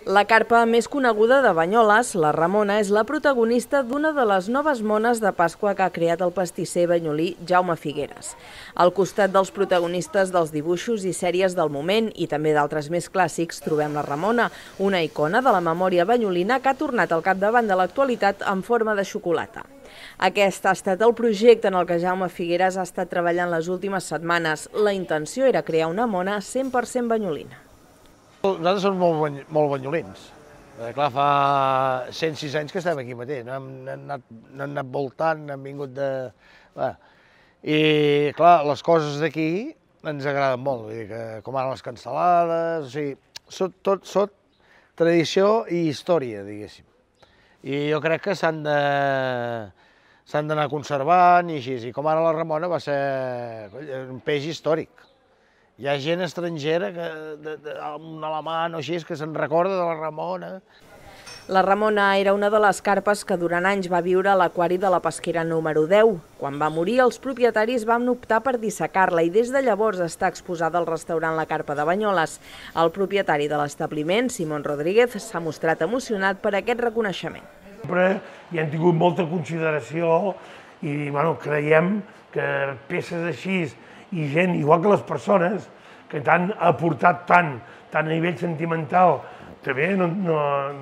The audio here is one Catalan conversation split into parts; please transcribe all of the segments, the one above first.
La carpa més coneguda de Banyoles, la Ramona, és la protagonista d'una de les noves mones de Pasqua que ha creat el pastisser banyolí Jaume Figueres. Al costat dels protagonistes dels dibuixos i sèries del moment i també d'altres més clàssics, trobem la Ramona, una icona de la memòria banyolina que ha tornat al capdavant de l'actualitat en forma de xocolata. Aquest ha estat el projecte en el que Jaume Figueres ha estat treballant les últimes setmanes. La intenció era crear una mona 100% banyolina. Nosaltres som molt banyolins. Clar, fa 106 anys que estem aquí mateix, no hem anat voltant, hem vingut de... I, clar, les coses d'aquí ens agraden molt, vull dir que com ara les cansalades, o sigui, tot tradició i història, diguéssim. I jo crec que s'han d'anar conservant i així, i com ara la Ramona va ser un peix històric. Hi ha gent estrangera, un alemany o així, que se'n recorda de la Ramona. La Ramona era una de les carpes que durant anys va viure a l'aquari de la pesquera número 10. Quan va morir, els propietaris van optar per dissecar-la i des de llavors està exposada al restaurant La Carpa de Banyoles. El propietari de l'establiment, Simón Rodríguez, s'ha mostrat emocionat per aquest reconeixement. Sempre hi hem tingut molta consideració i creiem que peces així i gent, igual que les persones, que t'han aportat tant a nivell sentimental, també no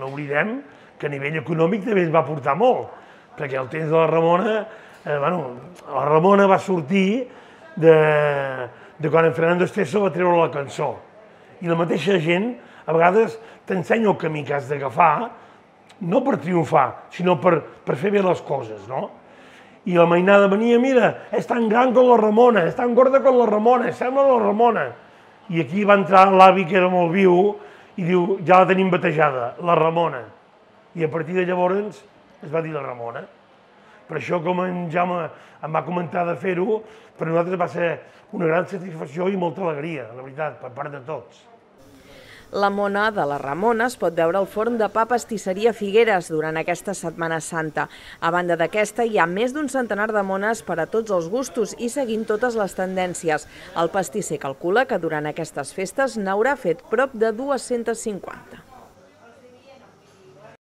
oblidem que a nivell econòmic també ens va aportar molt, perquè al temps de la Ramona, la Ramona va sortir de quan en Fernando Esteso va treure la cançó. I la mateixa gent, a vegades, t'ensenya el camí que has d'agafar, no per triomfar, sinó per fer bé les coses, no? I la mainada venia, mira, és tan gran com la Ramona, és tan gorda com la Ramona, sembla la Ramona. I aquí va entrar l'avi, que era molt viu, i diu, ja la tenim batejada, la Ramona. I a partir de llavors es va dir la Ramona. Per això, com en Jaume em va comentar de fer-ho, per nosaltres va ser una gran satisfacció i molta alegria, la veritat, per part de tots. La mona de la Ramona es pot veure al forn de pa Pastisseria Figueres durant aquesta Setmana Santa. A banda d'aquesta, hi ha més d'un centenar de mones per a tots els gustos i seguint totes les tendències. El pastisser calcula que durant aquestes festes n'haurà fet prop de 250.